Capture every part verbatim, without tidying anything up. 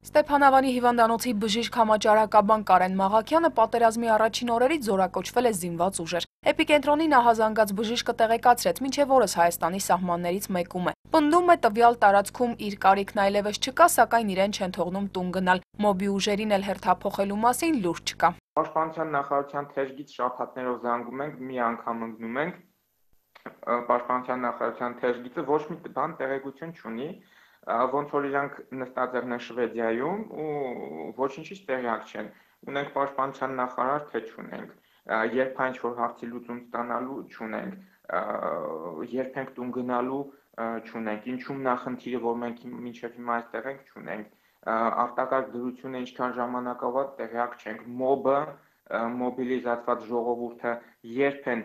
Ստեփանավանի հիվանդանոցի բժիշկ համաճարակաբան Կարեն Մաղաքյանը պատերազմի առաջին օրերից զորակոչվել է զինված ուժեր։ Էպիկենտրոնի նախազանգած բժիշկը տեղեկացրեց, մինչև օրս Հայաստանի սահմաններից մեկում է։ Պնդում է, տվյալ տարածքում իր կարիքն այլևս չկա, սակայն իրեն չեն թողնում տուն գնալ։ Մոբի ուժերին էլ հերթափոխելու մասին լուր չկա։ Պաշտպանության նախարարության թեժգից շաբաթներով զանգում ենք, մի անգամ ընկնում ենք։ Պաշտպանության նախարարության թեժգիծը ոչ մի բան տեղեկություն չունի, ոնց որ իրանք նստած են Շվեդիայում ու ոչինչից տեղյակ չեն։ Ունենք պաշտպանության նախարար, թե չունենք, երբ այն ինչ-որ հարցի լուծում ստանալու չունենք, երբ ենք տուն գնալու չունենք, ինչու՞մն է խնդիրը, որ մենք մինչև հիմա այստեղ ենք, չունենք, արտակարգ դրությունը ինչքան ժամանակավոր տեղյակ չենք, մոբը, մոբիլիզացված ժողովուրդը երբ են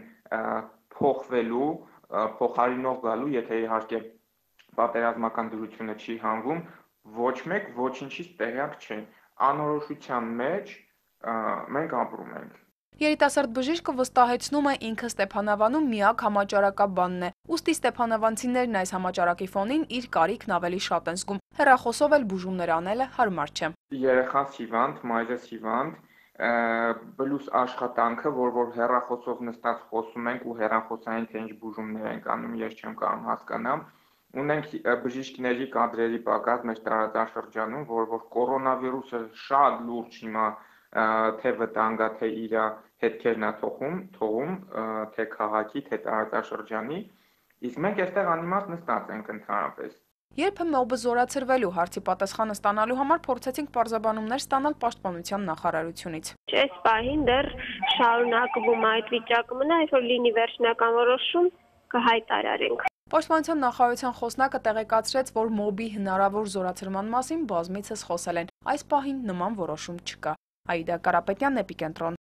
փոխվելու, փոխարինող գալու, եթե իհարկե պատերազմական դրությունը չի հանվում, ոչ մեկ ոչինչից տեղյակ չեն, անորոշության մեջ մենք ապրում ենք։ Երիտասարդ բժիշկը վստահեցնում է, ինքը Ստեփանավանում միակ համաճարակաբանն է, ուստի ստեփանավանցիներն այս համաճարակի ֆոնին իր կարիքն ավելի շատ են զգում, հեռախոսով էլ բուժումներ անելը հարմար չէ։ Երեխան հիվանդ, մայրս հիվանդ, պլյուս աշխատանքը, որ որ հեռախոսով նստած խոսում ենք ու հեռախոսային թե ինչ բուժումներ ենք անում, ես չեմ կարող հասկանամ։ Ունենք բժիշկների կադրերի պակաս մեր տարածաշրջանում, որ որ կորոնավիրուսը շատ լուրջ հիմա թե վտանգա, թե իր հետքերն է թողում, թողում, թե քաղաքի, թե տարածաշրջանի, իսկ մենք այստեղ անիմաստ նստած ենք ընդհանրապես։ Երբ մոբը զորացրվելու հարցի պատասխանը ստանալու համար փորձեցինք պարզաբանումներ ստանալ պաշտպանության նախարարությունից։ Այս պահին դեռ շարունակվում այդ վիճակը մնա, այսօր լինի վերջնական որոշում կհայտարարենք։ Պաշտպանության նախարարության խոսնակը տեղեկացրեց, որ մոբի հնարավոր զորացրման մասին բազմիցս խոսել են։ Այս պահին նման որոշում չկա։ Աիդա Կարապետյան, Էպիկենտրոն։